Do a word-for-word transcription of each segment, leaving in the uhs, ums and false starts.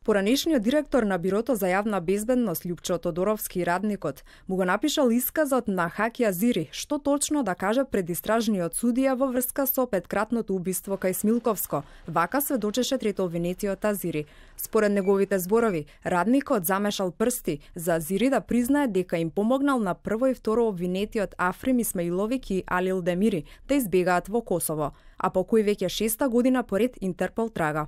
Поранешниот директор на Бирото за јавна безбедност Љупчо Тодоровски, радникот, му го напишал исказот на Хаки Азири, што точно да каже пред истражниот судија во врска со петкратното убиство кај Смилковско. Вака сведочеше трето обвинетиот Азири. Според неговите зборови, радникот замешал прсти за Азири да признае дека им помогнал на прво и второ обвинетиот Африм Исмаиловик и Алил Демири да избегаат во Косово, а по кој веќе шеста година поред Интерпол трага.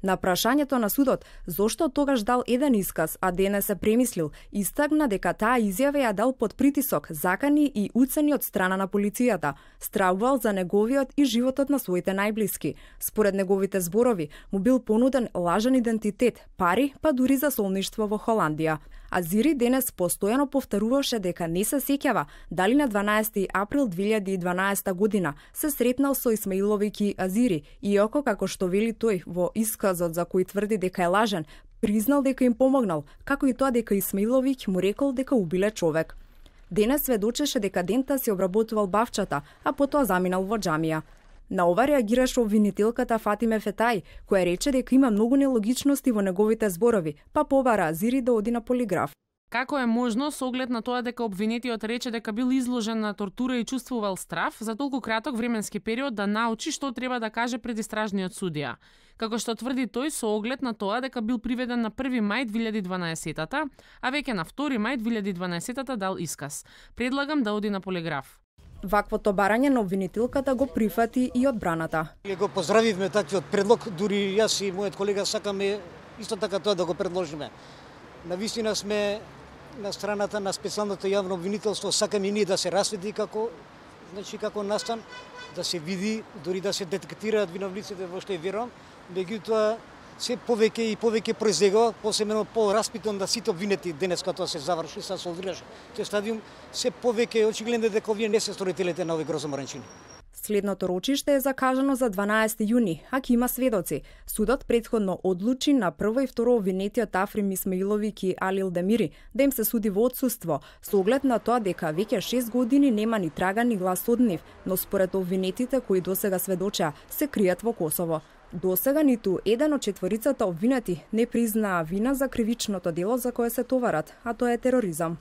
На прашањето на судот зошто тогаш дал еден исказ, а денес се премислил, истакна дека таа изјава ја дал под притисок, закани и уцени од страна на полицијата, стравувал за неговиот и животот на своите најблиски. Според неговите зборови, му бил понуден лажен идентитет, пари, па дури за солништво во Холандија. Азири денес постојано повторуваше дека не се сеќава дали на дванаести април две илјади и дванаесета година се сретнал со Исмаиловик и Азири, иако како што вели тој во исказот за кој тврди дека е лажен, признал дека им помогнал, како и тоа дека Исмаиловик му рекол дека убиле човек. Денес сведочеше дека дента си обработувал бавчата, а потоа заминал во џамија. На ова реагираше обвинителката Фатиме Фетај, која рече дека има многу нелогичности во неговите зборови, па побара Азири да оди на полиграф. Како е можно, со оглед на тоа дека обвинетиот рече дека бил изложен на тортура и чувствувал страф, за толку краток временски период да научи што треба да каже пред истражниот судија? Како што тврди тој, со оглед на тоа дека бил приведен на први мај две илјади и дванаесета, а веќе на втори мај две илјади и дванаесета дал исказ. Предлагам да оди на полиграф. Ваквото барање на обвинителката го прифати и одбраната. Го поздравивме таквиот предлог, дури јас и мојот колега сакаме исто така тоа да го предложиме. Навистина сме на страната на специјалното јавно обвинителство, сакаме и ние да се расветли како, значи како настан, да се види, дури да се детектираат виновниците, во што верувам, меѓутоа се повеќе и повеќе произлегува, посебно по-распитон да сите обвинети денес кога тоа се заврши, се солвираше тој стадиум, се повеќе очигледно дека овие не се сторителите на овој грозоморен чин. Следното рочиште е закажано за дванаесети јуни, а ќе има сведоци. Судот претходно одлучи на прво и второ обвинетиот Африм Исмаиловик и Алил Демири да им се суди во отсуство, со оглед на тоа дека веќе шест години нема ни трага ни глас од нив, но според обвинетите кои досега сведочеа се кријат во Косово. Досега ниту еден од четворицата обвинети не признаа вина за кривичното дело за кое се товарат, а тоа е тероризам.